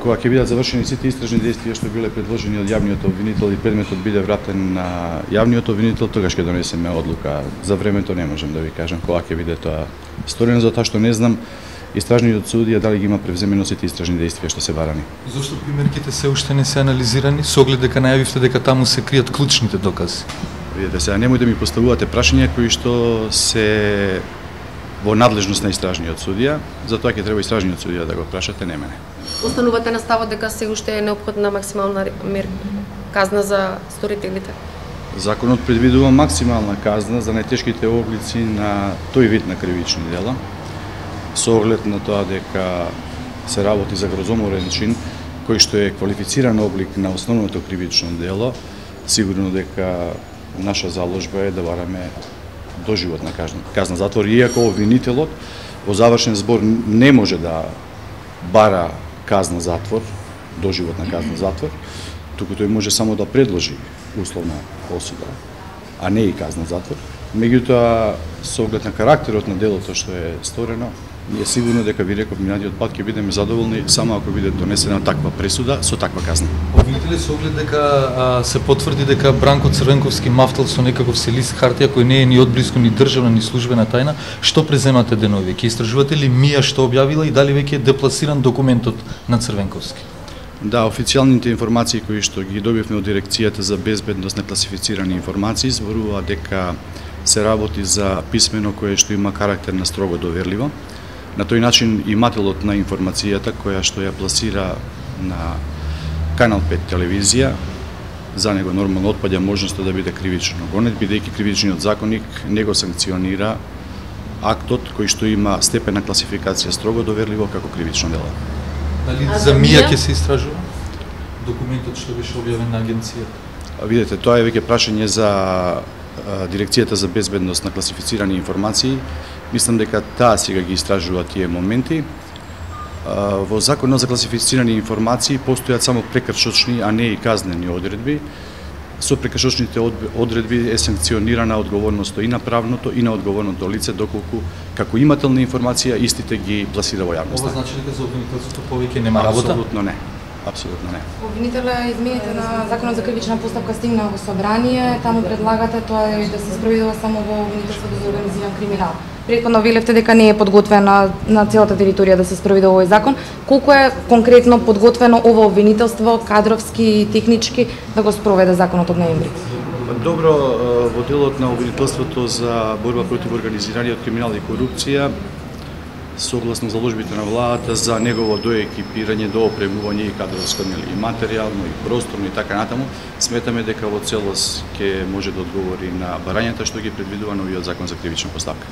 Кога ќе бидат завршени сите истражни действија што биле предложени од јавниот обвинител и предметот биде вратен на јавниот обвинител, тогаш ќе донесеме одлука. За времето не можам да ви кажам кога ќе биде тоа сторено, затоа што не знам истражниот судија дали ги има превземено сите истражни действија што се барани. Зошто примерките се уште не се анализирани, со оглед дека најавивте дека таму се кријат клучните докази? Видете, сега немој да ми поставувате прашања кои што се во надлежност на истражниот судија, затоа ќе треба истражниот судија да го прашате, не мене. Останувате на ставот дека се уште е неопходна максимална казна за сторителите? Законот предвидува максимална казна за најтешките облици на тој вид на кривични дела, со оглед на тоа дека се работи за грозоморен чин, кој што е квалифициран облик на основното кривично дело. Сигурно дека наша заложба е да бараме доживотна казна затвор, иако обвинителот во завршен збор не може да бара казна затвор, доживотна казна затвор, туку тој може само да предложи условна осуда, а не и казна затвор. Меѓутоа, со оглед на карактерот на делото што е сторено, ние сигурно дека ви реков минатиот пат ќе бидеме задоволни само ако биде донесена таква пресуда со таква казна. Видите ли со оглед дека се потврди дека Бранко Црвенковски мафтал со некаков се лист хартија кој не е ни одблиску ни државна ни службена тајна, што преземате денови? Ќе истражувате ли МИА што објавила и дали веќе е депласиран документот на Црвенковски? Да, официјалните информации кои што ги добивме од Дирекцијата за безбедност на класифицирани информации зборува дека се работи за писмено кое што има карактер на строго доверливо. На тој начин имателот на информацијата која што ја пласира на Канал 5 телевизија, за него нормално отпаѓа можноста да биде кривично гонет, бидејќи кривичниот законник не го санкционира актот кој што има степен на класификација строго доверливо како кривично дело. Дали за МИА ќе се истражува документот што беше објавен на агенцијата? Видете, тоа е веќе прашање за Дирекцијата за безбедност на класифицирани информации. Мислам дека таа сега ги истражува тие моменти. Во Законот за класифицирани информации постојат само прекршочни, а не и казнени одредби. Со прекршочните одредби е санкционирана одговорноста и на правното и на одговорното лице, доколку како имател на информација истите ги пласира во јавноста. Ова значи дека за обвинителството повеќе нема работа? Апсолутно не. Апсолутно не. Обвинителя, измените на Законот за кривична постапка стигна во собрание, таму предлагате тоа е да се спроведува само во обвинителството за организиран криминал. Претходно велевте дека не е подготвена на целата територија да се спроведува овој закон. Колку е конкретно подготвено ова обвинителство, кадровски и технички, да го спроведе законот од ноември? Добро, во делот на обвинителството за борба против организираниот криминал и корупција, согласно заложбите на владата за негово доекипирање, доопремување и кадровско и материјално и просторно и така натаму, сметаме дека во целост ќе може да одговори на барањата што ги предвидува новиот закон за кривична постапка.